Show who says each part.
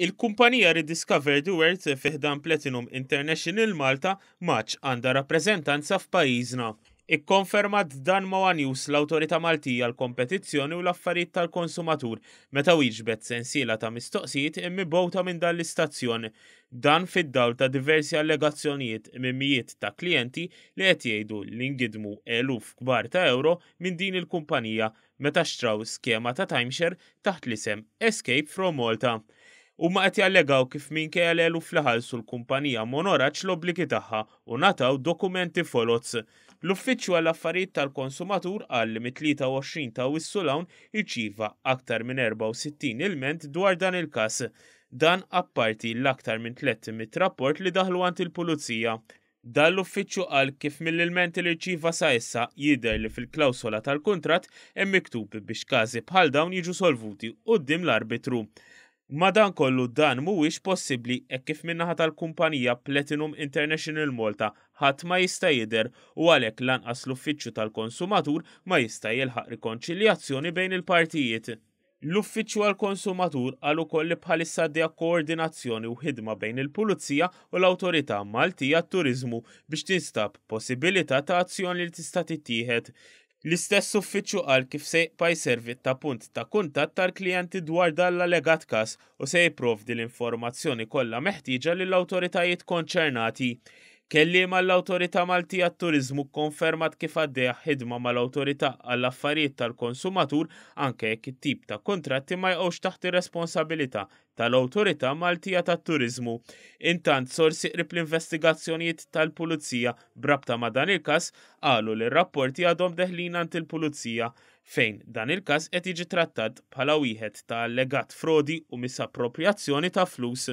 Speaker 1: Il-kumpanija Rediscover the World fi ħdan Platinum International Malta m'għadx għandha rappreżentanza f'pajjiżna. Ikkonfermat dan ma' one News l-Awtorità Maltija għall-Kompetizzjoni u l-Affarijiet tal-Konsumatur meta wieġbet sensiela ta' mistoqsijiet mibgħuta minn dan l-istazzjon. Dan fid-dawl ta' diversi allegazzjonijiet minn mijiet ta' klijenti li qed jgħidu li ngidmu eluf kbar ta' ewro minn din il-kumpanija meta xtraw skema ta' timeshare taħt l-isem Escape from Malta. Huma qed jallegaw kif minkejja l-eluf li ħallsu l-kumpanija m'onoratx l-obbligi tagħha u ngħataw dokumenti foloz. L-Uffiċċju għall-Affarijiet tal-Konsumatur qal li mit-23 ta' Awwissu 'l hawn irċieva aktar minn 64 ilment dwar dan il-każ. Dan apparti l-aktar minn 300 rapport li daħlu għand il-Pulizija. Dan l-uffiċċju qal kif mill-ilmenti li rċieva sa issa jidher li fil-klawsola tal-kuntratt hemm miktub biex każi bħal dawn jiġu solvuti quddiem l-arbitru. Madankollu dan mhuwiex possibbli hekk kif min-naħa tal-kumpanija Platinum International Malta ħadd ma jista' jidher u għalhekk lanqas l-Uffiċċju tal-Konsumatur ma jista' jilħaq rikonċiljazzjoni bejn il-partijiet. L-Uffiċċju għall-Konsumatur qal ukoll li bħalissa għaddejja koordinazzjoni u ħidma bejn il-Pulizija u l-Awtorità Maltija għat-Turiżmu biex tinstab possibilità ta' azzjoni li tista' tittieħed. L-istess uffiċċju qal kif se jibqa' jservi ta' punt ta' kuntatt għall-klijenti dwar dan l-allegat każ u se jipprovdi l-informazzjoni kollha meħtieġa lill-awtoritajiet konċernati. Kelliem għall-Awtorità Maltija għat-Turiżmu kkonfermat kif għaddejja ħidma mal-Awtorità għall-Affarijiet tal-Konsumatur anke jekk it-tip ta' kuntratti ma jaqgħux taħt ir-responsabilità tal-Awtorità Maltija tat-Turiżmu. Intant, sorsi qrib l-investigazzjonijiet tal-Pulizija b'rabta ma' dan il-każ qalu li r-rapporti għadhom deħlin għand il-Pulizija fejn dan il-każ qed jiġi trattat bħala wieħed ta' allegat frodi u misapproprjazzjoni ta' flus.